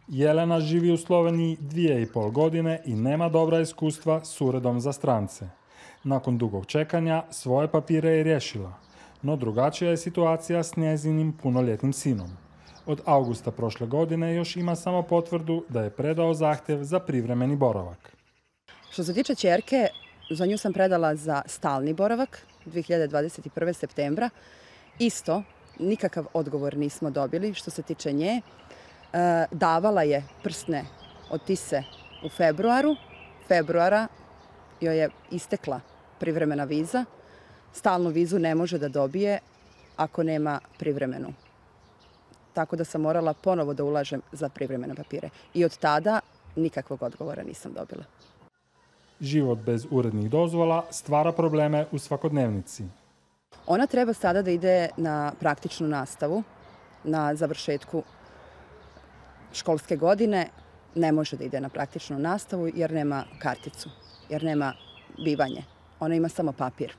Jelena živi u Sloveniji 2,5 godine i nema dobra iskustva s uredom za strance. Nakon dugog čekanja svoje papire je riješila, no drugačija je situacija s njezinim punoljetnim sinom. Od augusta prošle godine još ima samo potvrdu da je predao zahtjev za privremeni boravak. Što se tiče ćerke, za nju sam predala za stalni boravak 2021. septembra. Isto, nikakav odgovor nismo dobili što se tiče nje. Davala je prstne otise u februara joj je istekla privremena viza. Stalnu vizu ne može da dobije ako nema privremenu. Tako da sam morala ponovo da ulažem za privremene papire. I od tada nikakvog odgovora nisam dobila. Život bez urednih dozvola stvara probleme u svakodnevnici. Ona treba sada da ide na praktičnu nastavu, na završetku školske godine. Ne može da ide na praktičnu nastavu jer nema karticu, jer nema bivanje. Ona ima samo papir.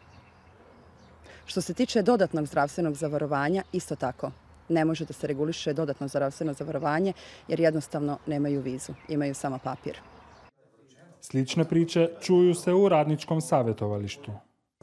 Što se tiče dodatnog zdravstvenog zavarovanja, isto tako. Ne može da se reguliše dodatno zdravstveno zavarovanje jer jednostavno nemaju vizu, imaju samo papir. Slične priče čuju se u radničkom savjetovalištu.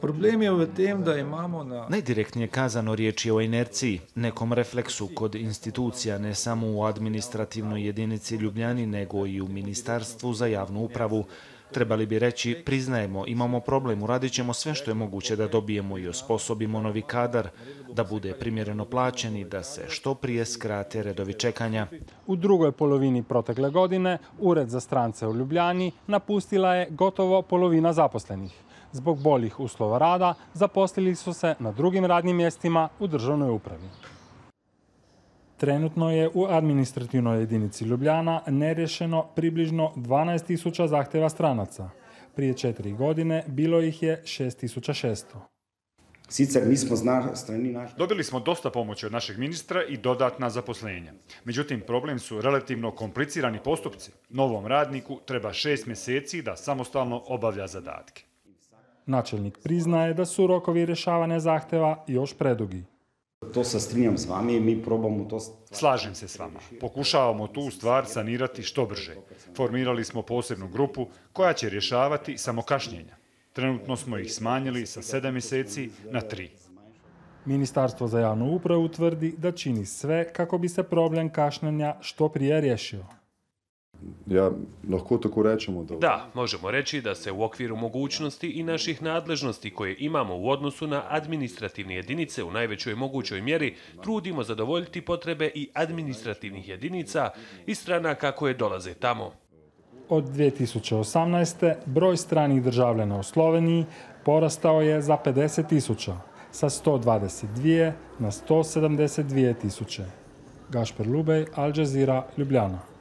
Problem je v tem, da imamo Najdirektnije kazano riječ je o inerciji, nekom refleksu kod institucija, ne samo u administrativnoj jedinici Ljubljani, nego i u Ministarstvu za javnu upravu. Trebali bi reći, priznajemo, imamo problem, uradit ćemo sve što je moguće da dobijemo i osposobimo novi kadar, da bude primjereno plaćen i da se što prije skrate redovi čekanja. U drugoj polovini protekle godine Ured za strance u Ljubljani napustila je gotovo polovina zaposlenih. Zbog boljih uslova rada zaposlili su se na drugim radnim mjestima u državnoj upravi. Trenutno je u administrativnoj jedinici Ljubljana neriješeno približno 12.000 zahtjeva stranaca. Prije 4 godine bilo ih je 6.600. Dobili smo dosta pomoći od našeg ministra i dodatna zaposlenja. Međutim, problem su relativno komplicirani postupci. Novom radniku treba 6 mjeseci da samostalno obavlja zadatke. Načelnik priznaje da su rokovi rješavanja zahtjeva još predugi. To se strinjam s vami, mi probamo to... Slažem se s vama. Pokušavamo tu stvar sanirati što brže. Formirali smo posebnu grupu koja će rješavati samo kašnjenja. Trenutno smo ih smanjili sa 7 mjeseci na 3. Ministarstvo za javnu upravu tvrdi da čini sve kako bi se problem kašnjenja što prije riješio. Lahko tako rečemo da... Da, možemo reći da se u okviru mogućnosti i naših nadležnosti koje imamo u odnosu na administrativne jedinice u najvećoj mogućoj mjeri trudimo zadovoljiti potrebe i administrativnih jedinica i stranaka koje dolaze tamo. Od 2018. broj stranih državljana u Sloveniji porastao je za 50.000, sa 122 na 172.000. Gašper Lubej, Al Jazeera, Ljubljana.